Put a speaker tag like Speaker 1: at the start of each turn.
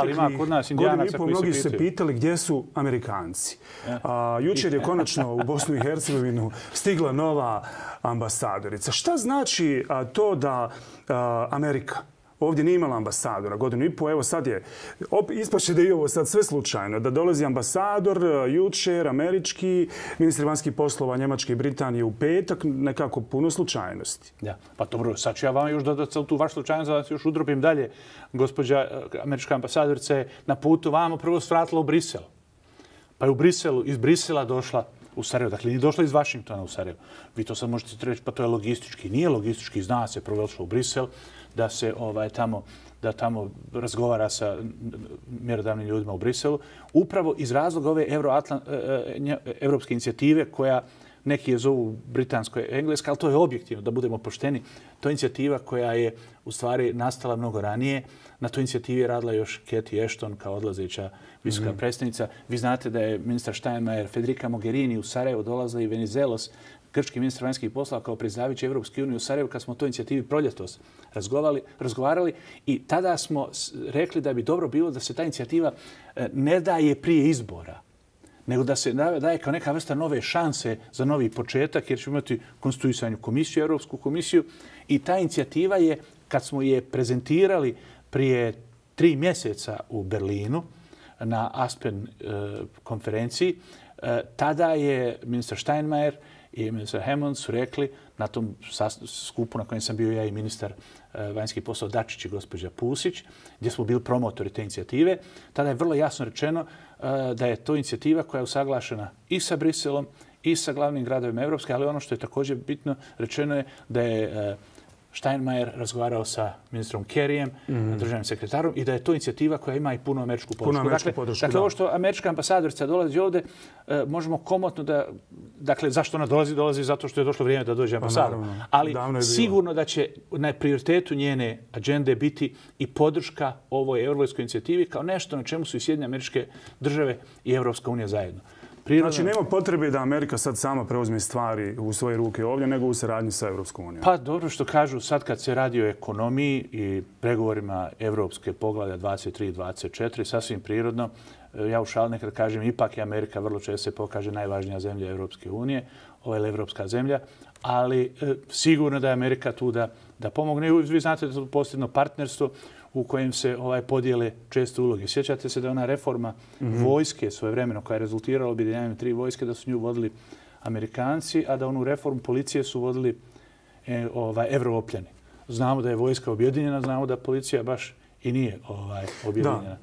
Speaker 1: ali ima kod nas Indijanaca koji
Speaker 2: mnogi
Speaker 1: se
Speaker 2: se pitali gdje su Amerikanci. Jučer je konačno u Bosnu i Hercegovinu stigla nova ambasadorica. Šta znači to da Amerika ovdje nije imala ambasadora godinu i pol, evo sad je, ispaše da je ovo sad sve slučajno, da dolazi ambasador jučer, američki, ministri vanjskih poslova Njemačke i Britanije u petak, nekako puno slučajnosti.
Speaker 1: Ja, pa dobro, sad ću ja vam još dodati tu vaš slučajnost, da vas još udropim dalje. Gospođa američka ambasadorica je na putu vamo prvo svratila u Brisel. Pa je iz Brisela došla u Sarajevo. Dakle, nije došla iz Vašingtona u Sarajevo. Vi to sad možete reći, pa to je logistički. Nije logistički, zna se, prvo je došla u Brisel, da se tamo razgovara sa mjerodavnim ljudima u Briselu. Upravo iz razloga ove evropske inicijative koja neki je zovu britansko-engleska, ali to je objektivno, da budemo pošteni. To je inicijativa koja je u stvari nastala mnogo ranije. Na toj inicijativi je radila još Cathy Ashton kao odlazeća visoka predstavnica. Vi znate da je ministar Steinmeier, Federica Mogherini u Sarajevo dolazila i Venizelos, grčki ministar vanjskih poslova kao predsjedavajući Evropske unije u Sarajevu kad smo o toj inicijativi proljetos razgovarali i tada smo rekli da bi dobro bilo da se ta inicijativa ne daje prije izbora, nego da se daje kao neka vrsta nove šanse za novi početak, jer ćemo imati konstituisanu komisiju, Europsku komisiju. I ta inicijativa je, kad smo je prezentirali prije 3 mjeseca u Berlinu na Aspen konferenciji, tada je ministar Steinmeier i ministar Hammond su rekli na tom skupu na kojem sam bio ja i ministar vanjskih poslova Dačić i gospođa Pusić, gdje smo bili promotori te inicijative, tada je vrlo jasno rečeno da je to inicijativa koja je usaglašena i sa Briselom i sa glavnim gradovima Evropske, ali ono što je također bitno rečeno je da je Steinmeier razgovarao sa ministrom Kerryjem, državnim sekretarom, i da je to inicijativa koja ima i punu američku podršku. Dakle, ovo što američka ambasadorica dolazi ovdje, možemo komotno da... Dakle, zašto ona dolazi? Dolazi zato što je došlo vrijeme da dođe ambasador. Ali sigurno da će na prioritetu njene agende biti i podrška ovoj evropskoj inicijativi kao nešto na čemu su i Sjedinjene Američke Države i Evropska unija zajedno.
Speaker 2: Znači, nema potrebe da Amerika sad sama preuzme stvari u svoje ruke ovdje, nego u saradnji sa Evropskom unijom.
Speaker 1: Pa dobro što kažu, sad kad se radi o ekonomiji i pregovorima Evropske poglavlja 23 i 24, sasvim prirodno, ja u šali nekad kažem, ipak je Amerika vrlo često se pokaže najvažnija zemlja Evropske unije, ovo je evropska zemlja, ali sigurno da je Amerika tu da pomogne. Vi znate da je to posljedno partnerstvo u kojem se podijele često uloge. Sjećate se da je ona reforma vojske svojevremeno koja je rezultirala objedinjavanjem 3 vojske, da su nju vodili Amerikanci, a da onu reformu policije su vodili Evropljani. Znamo da je vojska objedinjena, znamo da policija baš i nije objedinjena.